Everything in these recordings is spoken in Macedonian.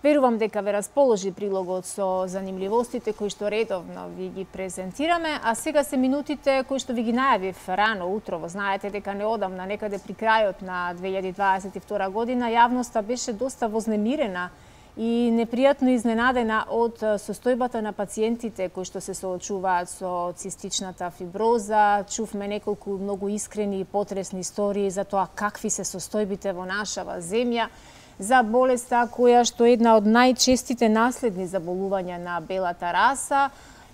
Верувам дека ве расположи прилогот со занимливостите кои што редовно ви ги презентираме, а сега се минутите кои што ви ги најавив рано утрово. Знаете дека неодамна, некаде при крајот на 2022 година, јавноста беше доста вознемирена и непријатно изненадена од состојбата на пациентите кои што се соочуваат со цистичната фиброза. Чувме неколку многу искрени и потресни истории за тоа какви се состојбите во нашава земја, за болеста која што е една од најчестите наследни заболувања на белата раса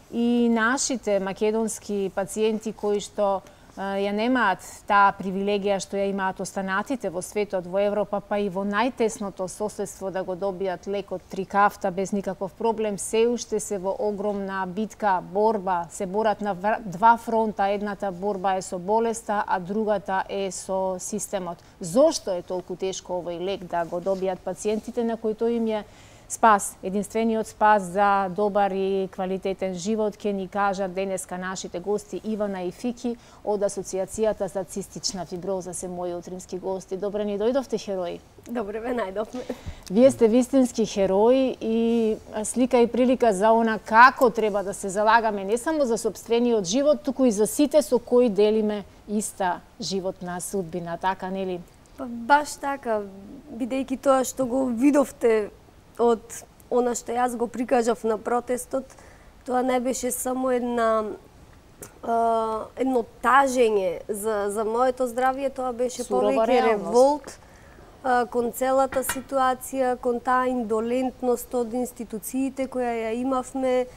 и нашите македонски пациенти кои што ја немаат таа привилегија што ја имаат останатите во светот, во Европа, па и во најтесното соседство да го добијат лекот Трикафта без никаков проблем, се уште се во огромна битка, борба, се борат на два фронта, едната борба е со болеста, а другата е со системот. Зошто е толку тешко овој лек да го добијат пациентите на кои тој им е спас, единствениот спас за добар и квалитетен живот, ќе ни кажат денеска нашите гости Ивана и Фики од Асоциацијата за цистична фиброза, се мои утрински гости. Добре ни дојдовте, херои. Добре ве најдовме. Вие сте вистински херои и слика и прилика за она како треба да се залагаме не само за сопствениот живот, туку и за сите со кои делиме иста животна судбина, така нели? Па баш така, бидејќи тоа што го видовте од она што јас го прикажав на протестот, тоа не беше само едно тажење за моето здравје, тоа беше повеќе револт кон целата ситуација, кон таа индолентност од институциите која ја имавме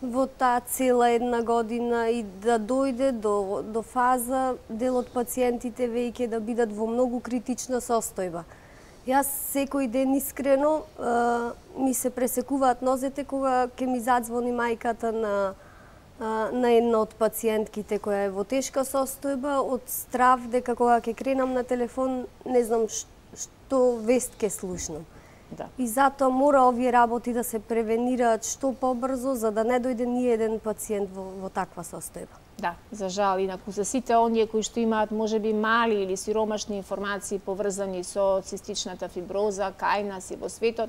во таа цела една година и да дојде до фаза дел од пациентите веќе да бидат во многу критична состојба. Јас секој ден искрено ми се пресекуваат нозете кога ќе ми задзвони мајката на една од пациентките која е во тешка состојба, од страв дека кога ќе кренам на телефон не знам што вест ќе слушнам. Да. И затоа мора овие работи да се превенираат што побрзо за да не дојде ни еден пациент во таква состојба. Да, за жал, инаку за сите оние кои што имаат можеби мали или сиромашни информации поврзани со цистичната фиброза кај нас и во светот,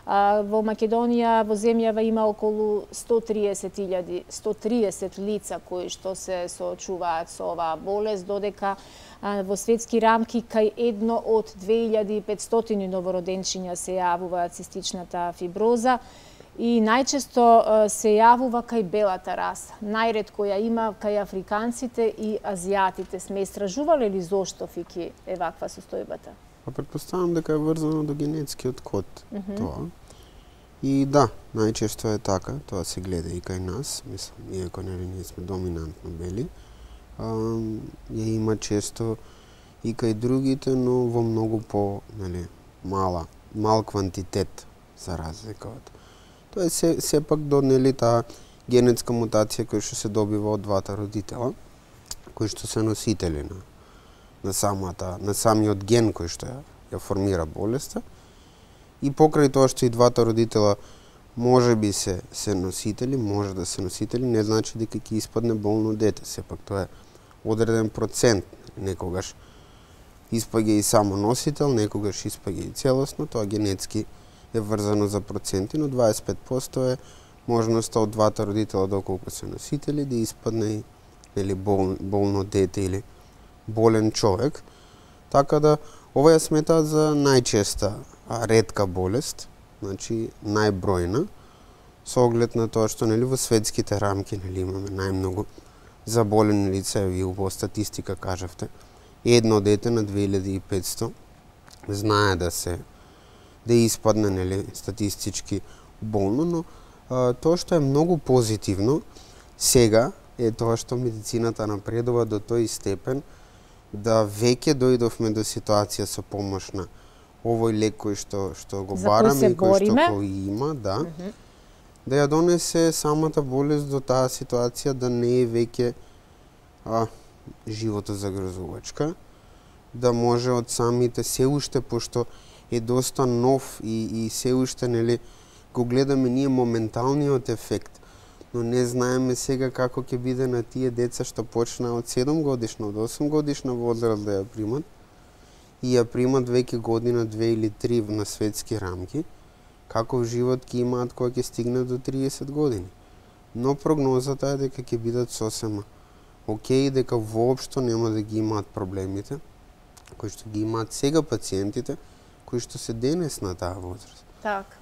во Македонија, во земјава има околу 130 лица кои што се соочуваат со оваа болест, додека во светски рамки кај едно од 2500 новороденчиња се јавува цистичната фиброза. И најчесто се јавува кај белата раса. Најретко ја има кај африканците и азиатите. Сме истражувале ли зошто, Фики, е ваква состојбата? Па претпоставам дека е врзано до генетскиот код тоа. И да, најчесто е така, тоа се гледа и кај нас, мислам, иако ние сме доминантно бели. Ја има често и кај другите, но во многу по, мал квантитет за разлика од. Тоа е сепак до таа генетска мутација која што се добива од двата родитела, кои што се носители на самиот ген кој што ја формира болеста. И покрај тоа што и двата родитела можеби се носители, може да се носители, не значи дека ќе испадне болно дете. Сепак тоа е одреден процент. Некогаш испаѓа и само носител, некогаш испаѓа и целосно, тоа генетски е врзано за проценти, но 25% е можноста од двата родитела доколку се носители да испадне болно дете или болен човек. Така да ова ја сметаат за најчеста ретка болест, значи најбројна, со оглед на тоа што во светските рамки имаме најмногу заболени лица, и во статистика кажавте, едно дете на 2500 знае да испадне статистички болно, но тоа што е многу позитивно сега е тоа што медицината напредува до тој степен да веќе дојдовме до ситуација со помош на овој лек кој што го бараме и кој што го има, да ја донесе самата болест до таа ситуација да не е веќе животозагрозувачка, да може од самите се уште, пошто е доста нов и се уште го гледаме ние моменталниот ефект, но не знаеме сега како ќе биде на тие деца што почнаа од 7 годишна, од 8 годишна возраст да ја примат и ја примат веќе година, 2 или 3 на светски рамки каков живот ќе имаат кога ќе стигнат до 30 години. Но прогнозата е дека ќе бидат сосема окей, дека воопшто нема да ги имаат проблемите кои што ги имаат сега пациентите кои што се денес на таа возраст. Така.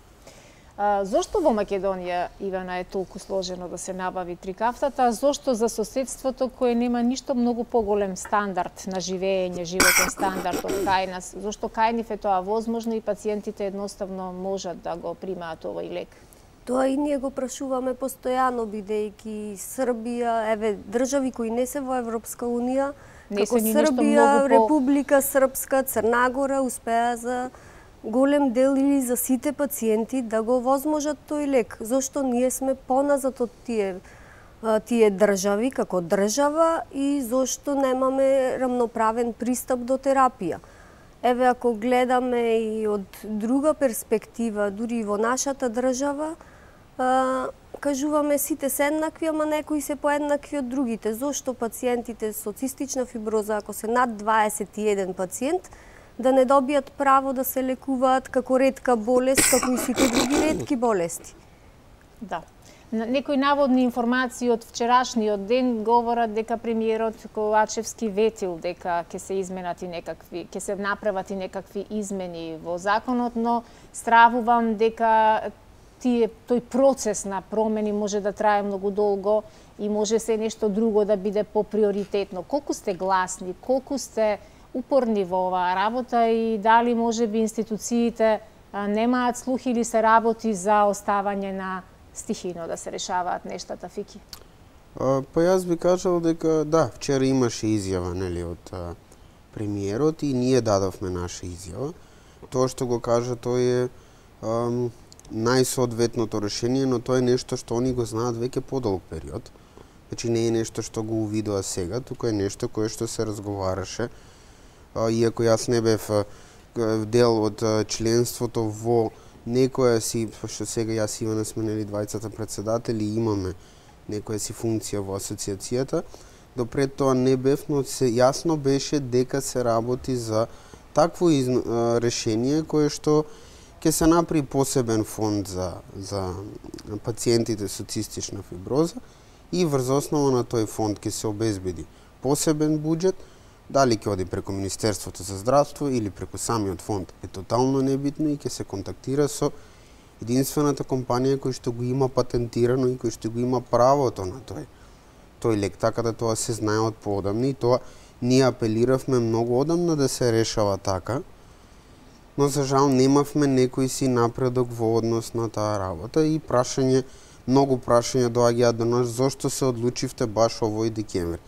Зошто во Македонија, Ивана, е толку сложено да се набави трикафтата, а зошто за соседството кое нема ништо многу поголем стандард на живење, животен стандард од кај нас, зошто кај нив е тоа возможно и пациентите едноставно можат да го примаат овој лек? Тоа и ние го прашуваме постојано, бидејќи Србија, држави кои не се во Европска Унија, како Србија, Република Српска, Црна Гора, успеа за голем дел или за сите пациенти да го возможат тој лек. Зошто ние сме поназад од тие држави како држава и зошто немаме рамноправен пристап до терапија? Еве, ако гледаме и од друга перспектива, дури и во нашата држава, кажуваме сите се еднакви, ама некои се поеднакви од другите. Зошто пациентите со цистична фиброза, ако се над 21 пациент, да не добијат право да се лекуваат како ретка болест, како и сите други ретки болести? Да. Некои наводни информации од вчерашниот ден говорат дека премиерот Ковачевски ветил дека ќе се изменат и некакви, ќе се направат и некакви измени во законот, но стравувам дека тој процес на промени може да трае многу долго и може се нешто друго да биде поприоритетно. Колку сте гласни, колку сте упорни во оваа работа и дали можеби институциите немаат слух или се работи за оставање на стихино да се решаваат нештата, Фики? Па јас би кажал дека да, вчера имаше изјава, нели, од премиерот и ние дадовме наша изјава. Тоа што го кажа тој е најсоодветното решение, но тоа е нешто што они го знаат веќе подолг период. Значи не е нешто што го увидува сега, туку е нешто кое што се разговараше. Иако јас не бев дел од членството во некоја си, што сега јас и Ивана сме нели двајцата председатели, имаме некоја си функција во асоциацијата, допред тоа не бев, но се јасно беше дека се работи за такво решение кое што ќе се направи посебен фонд за пациентите со цистична фиброза и врз основа на тој фонд ќе се обезбеди посебен буџет. Дали ќе оди преку Министерството за здравство или преку самиот фонд е тотално небитно и ќе се контактира со единствената компанија која што го има патентирано и која што го има правото на тој лек, така да тоа се знае од поодамна и тоа ние апелиравме многу одамна да се решава така, но за жал немавме некој си напредок во однос на таа работа и многу прашања доаѓаат до нас зошто се одлучивте баш овој декември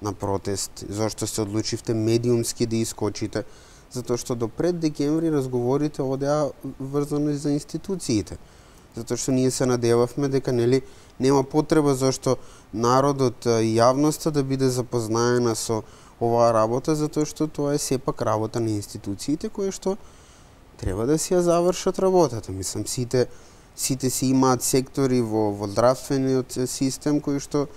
на протест, зошто се одлучивте медиумски да искочите, затоа што до пред декември разговорите одеа врзано за институциите. Затоа што ние се надевавме дека нели нема потреба зашто народот и јавноста да биде запознаена со оваа работа, затоа што тоа е сепак работа на институциите кои што треба да си ја завршат работата. Мислам, сите си имаат сектори во здравствениот систем кои што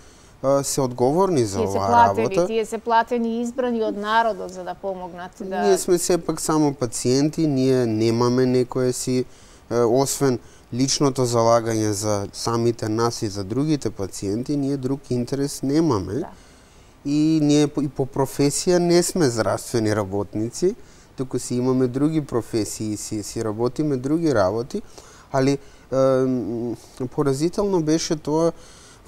се одговорни за оваа работа. Тие се платени и избрани од народот за да помогнат. Ние сме сепак само пациенти, ние немаме некое си, освен личното залагање за самите нас и за другите пациенти, ние друг интерес немаме. Да. И ние и по професија не сме здравствени работници, туку си имаме други професии, си работиме други работи, али поразително беше тоа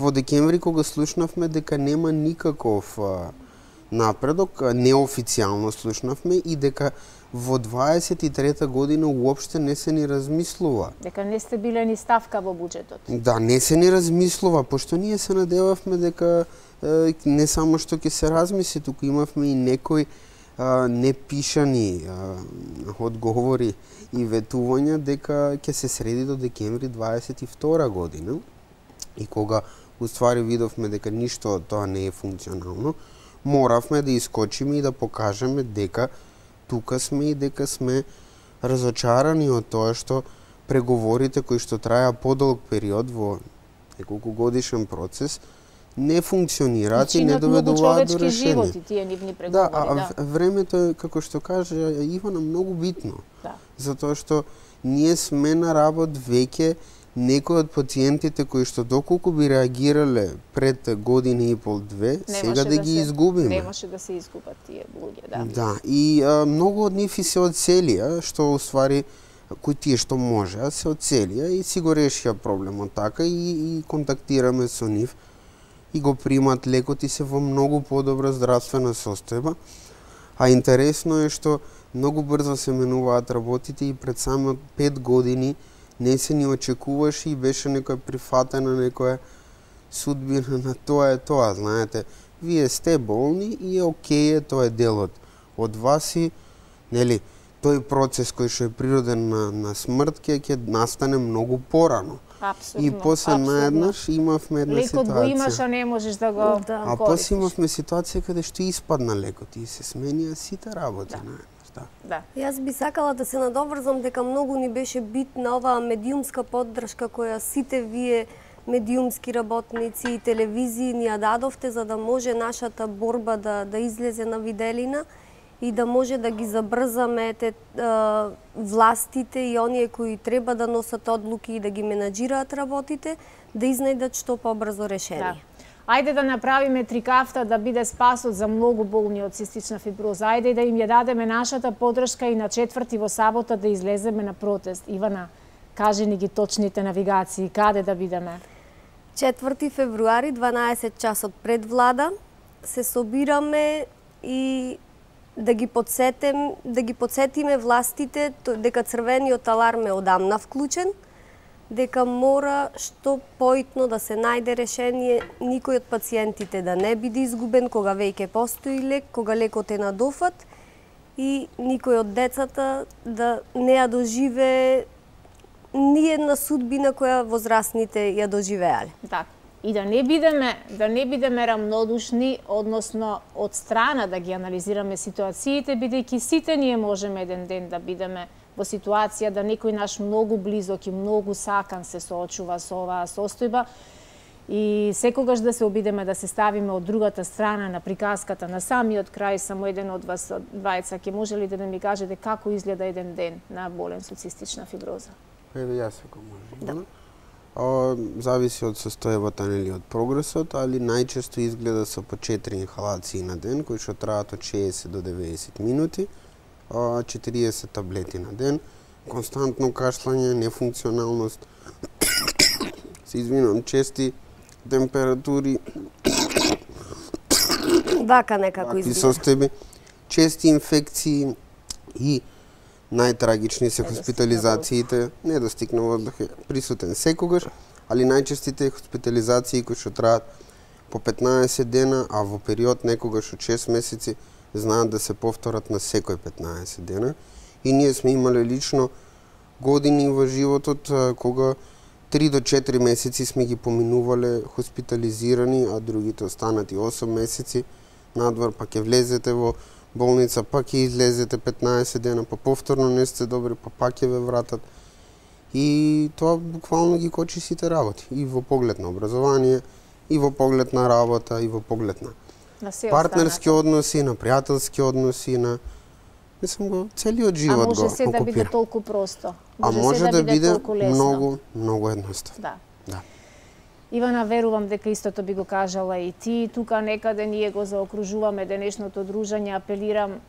во декември кога слушнавме дека нема никаков напредок, неофицијално слушнавме и дека во 23-та година уопште не се ни размислува. Дека не сте биле ни ставка во буџетот. Да, не се ни размислува, пошто ние се надевавме дека не само што ќе се размисли, туку имавме и некои непишани одговори и ветувања дека ќе се среди до декември 22 година. И кога уствари видовме дека ништо од тоа не е функционално, моравме да искочиме и да покажеме дека тука сме и дека сме разочарани од тоа што преговорите кои што траја подолг период во неколку годишен процес не функционираат и не доведуваат до решение. Животи, тие нивни преговори, времето е, како што каже Ивана, многу битно. Да. Затоа што ние сме на работ веќе некои од пациентите кои што доколку би реагирале пред година и пол-две, сега да ги изгубиме. Не може да се изгубат тие луѓе, да. Да, и многу од нив и се оцелија, што уствари кои тие што можеа се оцелија и си го решија проблемот така и контактираме со нив и го примат лекот и се во многу подобра здравствена состојба. А интересно е што многу брзо се менуваат работите и пред самиот 5 години не се ни очекуваше и беше некоја прифатена некоја судбина на тоа е тоа, знаете. Вие сте болни и е окей, тоа е делот од вас и, нели, тој процес кој што е природен на смрт ќе настане многу порано. Апсолутно. И после наеднаш имавме една ситуација. Лекот го имаш, а не можеш да го користиш. А после имавме ситуација каде што испадна лекот и се сменија сите работи наеднаш. Да. Јас би сакала да се надоврзам дека многу ни беше битна оваа медиумска поддршка која сите вие медиумски работници и телевизии ни ја дадовте за да може нашата борба да излезе на виделина и да може да ги забрзаме властите и оние кои треба да носат одлуки и да ги менаџираат работите, да изнајдат што побрзо решение. Да. Ајде да направиме трикафта да биде спасот за многу болни од цистична фиброза. Ајде да им ја дадеме нашата поддршка и на 4 во сабота да излеземе на протест. Ивана, кажи ни ги точните навигации, каде да бидеме? 4 февруари, 12 часот пред влада, се собираме и да ги подсетиме властите дека црвениот аларм е одамна вклучен, дека мора што поитно да се најде решение никој од пациентите да не биде изгубен кога веќе постои лек, кога лекот е на дофат и никој од децата да не ја доживее ни една судбина која возрастните ја доживеале. Така. И да не бидеме рамнодушни, односно од страна да ги анализираме ситуациите, бидејќи сите ние можеме еден ден да бидеме во ситуација да некој наш многу близок и многу сакан се соочува со оваа состојба и секогаш да се обидеме да се ставиме од другата страна на приказката на самиот крај. Само еден од вас двајца ќе може ли да ми кажете како изгледа еден ден на болен со цистична фиброза? Еве јас ако може. Да. Зависи од состојбата или од прогресот, али најчесто изгледа со по 4 инхалации на ден кои што траат од 60 до 90 минути. 40 таблети на ден, константно кашлање, нефункционалност, се извинувам, чести температури, вака некако изгледа. Состојби, чести инфекции и најтрагични се хоспитализациите, недостиг на воздух е присутен секогаш, али најчестите хоспитализации кои што траат по 15 дена, а во период некогаш од 6 месеци знаат да се повторат на секој 15 дена. И ние сме имале лично години во животот кога 3 до 4 месеци сме ги поминувале хоспитализирани, а другите останати 8 месеци надвор, па ќе влезете во болница, па ќе излезете 15 дена, па повторно не сте добри, па пак ќе ве вратат. И тоа буквално ги кочи сите работи, и во поглед на образование, и во поглед на работа, и во поглед на партнерски односи, на пријателски односи, на целиот живот го окупира. А може се да биде толку просто. Може да биде многу едноставно. Да. Да. Ивана, верувам дека истото би го кажала и ти. Тука некаде ние го заокружуваме денешното дружење. Апелирам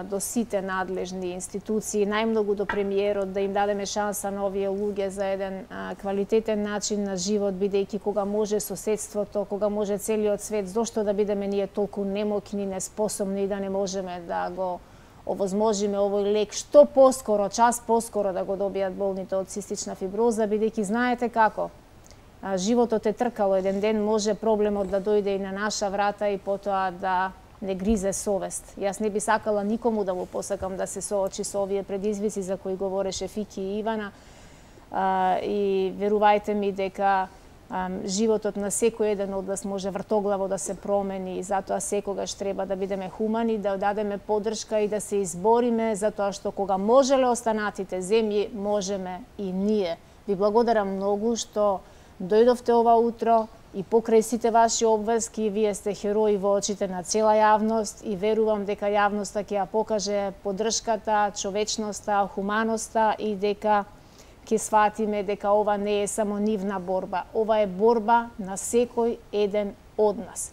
до сите надлежни институции, најмногу до премиерот, да им дадеме шанса на овие луѓе за еден квалитетен начин на живот, бидејќи кога може соседството, кога може целиот свет, зошто да бидеме ние толку немокни, неспособни и да не можеме да го овозможиме овој лек што поскоро, час поскоро да го добијат болните од цистична фиброза, бидејќи знаете како, животот е тркало, еден ден може проблемот да дојде и на наша врата и потоа да не гризе совест. Јас не би сакала никому да му посакам да се соочи со овие предизвици за кои говореше Фики и Ивана. И верувајте ми дека животот на секој еден од нас може вртоглаво да се промени и затоа секогаш треба да бидеме хумани, да дадеме поддршка и да се избориме затоа што кога можеле останатите земји, можеме и ние. Ви благодарам многу што дојдовте ова утро и покрај сите ваши обврски, вие сте херои во очите на цела јавност и верувам дека јавноста ќе ја покаже поддршката, човечноста, хуманоста и дека ќе сватиме дека ова не е само нивна борба, ова е борба на секој еден од нас.